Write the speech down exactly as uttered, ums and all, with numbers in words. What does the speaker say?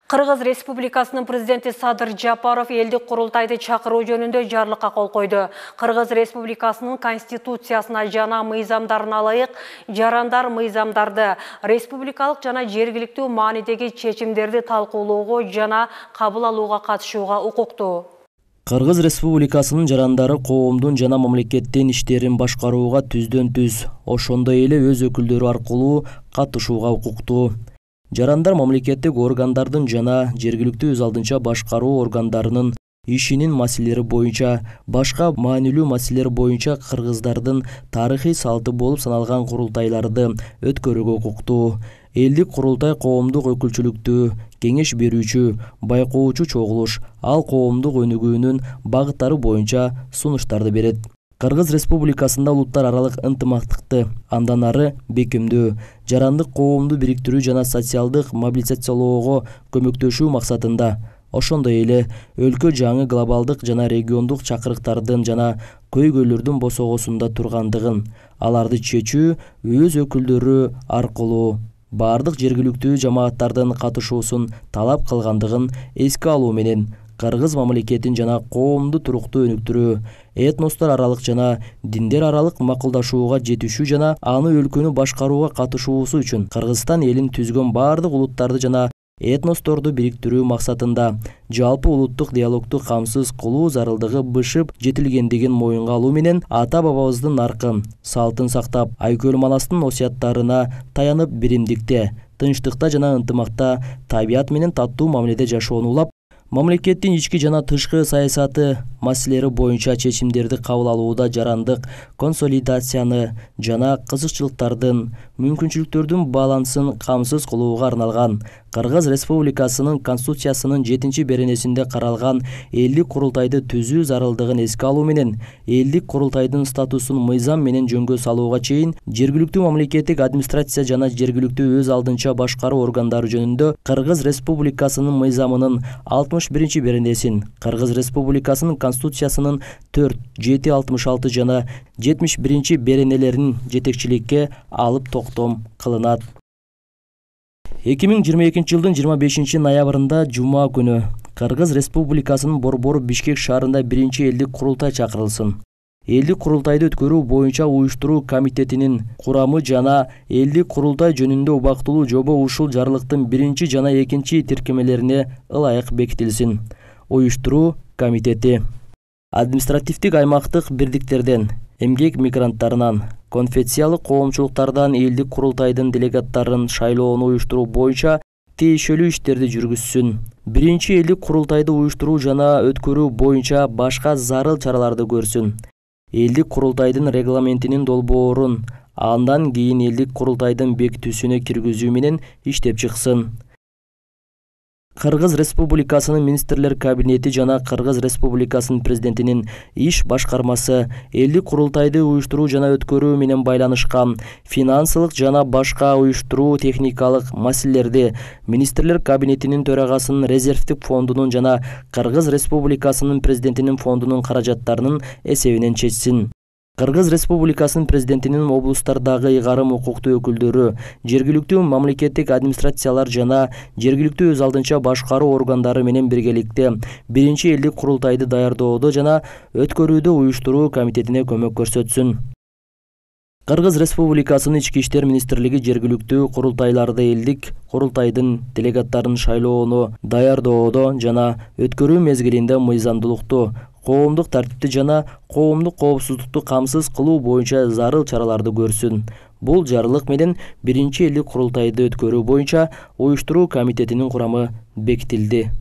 Кыргыз Республикасынын президенти Садыр Жапаров элдик курултайды чакыруу жөнүндө жарлыкка кол койду. Кыргыз Республикасынын конституциясына жана мыйзамдарына ылайык жарандар мыйзамдарды, республикалык жана жергиликтүү маанидеги чечимдерди талкуулоого жана кабыл алууга катышууга укуктуу. Кыргыз Республикасынын жарандары коомдун жана мамлекеттин иштерин башкарууга түздөн-түз, ошондой эле өз өкүлдөрү аркылуу катышууга укуктуу. Жарандар мамлекеттик органдардын жана жергиликтүү өз алдынча башкаруу органдарынын ишинин маселелери боюнча, башка маанилүү маселелер боюнча кыргыздардын тарыхый салты болуп саналган курултайларды өткөрүүгө укуктуу. Элдик курултай коомдук өкүлчүлүктүү, кеңеш берүүчү, байкоочу чогулуш, ал коомдук өнүгүүнүн багыттары боюнча сунуштарды берет. Кыргыз Республикасында улуттар аралык ынтымактыкты андан ары бекемдөө, жарандык коомду бириктирүү жана социалдык мобилизациялоого көмөктөшүү максатында, ошондой эле өлкө жаңы глобалдык жана региондук чакырыктардын жана көйгөйлөрдүн босогосунда тургандыгын, аларды чечүү өз өкүлдөрү аркылуу бардык жергиликтүү жамааттардын катышуусун талап кылгандыгын эске алуу менен кыргыз мамлекетин жана коомду туруктуу өнүктүрүү, этностор аралык жана диндер аралык макулдашууга жетишүү жана аны өлкөнү башкарууга катышуусу үчүн Кыргызстан элин түзгөн бардык улуттарды жана этносторду бириктирүү максатында жалпы улуттук диалогду камсыз кылуу зарылдыгы бышып жетилгендигин моюнга алуу менен ата бабабыздын наркын, салтын сактап, Айкөл Манастын осуяттарына таянып биримдикте, тынчтыкта жана ынтымакта табият менен таттуу мамиледе жашоону улап, мамлекеттин ички жана тышкы саясаты маселелери боюнча чечимдерди кабыл алууда жарандык консолидацияны жана кызыкчылыктардын, мүмкүнчүлүктөрдүн балансын камсыз кылууга арналган Кыргыз Республикасынын Конституциясынын жетинчи беренесинде каралган элдик курултайды түзүү зарылдыгын эске алуу менен элдик курултайдын статусун мыйзам менен жөнгө салууга чейин жергиликтүү мамлекеттик администрация жана жергиликтүү өз алдынча башкаруу органдары жөнүндө Кыргыз Республикасынын мыйзамынын алтымыш биринчи беренесин, Кыргыз Республикасынын Конституциясынын төрт, жети, алтымыш алты жана жетимиш биринчи беренелерин жетекчиликке алып токтом кылынат. эки миң жыйырма экинчи жылдын жыйырма бешинчи ноябрында жума күнү Кыргыз Республикасынын Борбор Бишкек шаарында биринчи элдик курултай чакырылсын. Элдик курултайды өткөрүү боюнча уюштуруу комитетинин курамы жана элдик курултай жөнүндө убактылуу жобо ушул жарлыктын биринчи жана экинчи тиркемелерине ылайык бекитилсин. Уюштуруу комитети административдик аймактык бирдиктерден, эмгек мигранттарынан, конфессиялык коомчулуктардан элдик курултайдын делегаттарын шайлоону уюштуруу боюнча тиешелүү иштерди жүргүзсүн. Биринчи элдик курултайды уюштуруу жана өткөрүү боюнча башка зарыл чараларды көрсүн. Элдик курултайдын регламентинин долбоорун андан кийин элдик курултайдын бекитүүсүнө киргизүү менен иштеп чыксын. Кыргыз Республикасынын министрлер кабинети жана Кыргыз Республикасынын президентинин иш башкармасы элдик курултайды уюштуруу жана өткөрүү менен байланышкан финансылык жана башка уюштуруу техникалык маселелерди министрлер кабинетинин төрагасынын резервдик фондунун жана Кыргыз Республикасынын президентинин фондунун каражаттарынын эсебинен чечсин. Кыргыз Республикасынын президентинин облустардагы ыйгарым укуктуу өкүлдөрү, жергиликтүү мамлекеттик администрациялар жана жергиликтүү өз алдынча башкаруу органдары менен биргеликте биринчи элдик курултайды даярдоодо жана өткөрүүдө уюштуруу комитетине көмөк көрсөтсүн. Кыргыз Республикасынын Ички иштер министрлиги жергиликтүү курултайларды элдик курултайдын делегаттарын шайлоону даярдоодо жана өткөрүү мезгилинде мыйзамдуулукту, коомдук тартипти жана коомдук коопсуздукту камсыз кылуу боюнча зарыл чараларды көрсүн. Бул жарлык менен биринчи элдик курултайды өткөрүү боюнча уюштуруу комитетинин курамы бекитилди.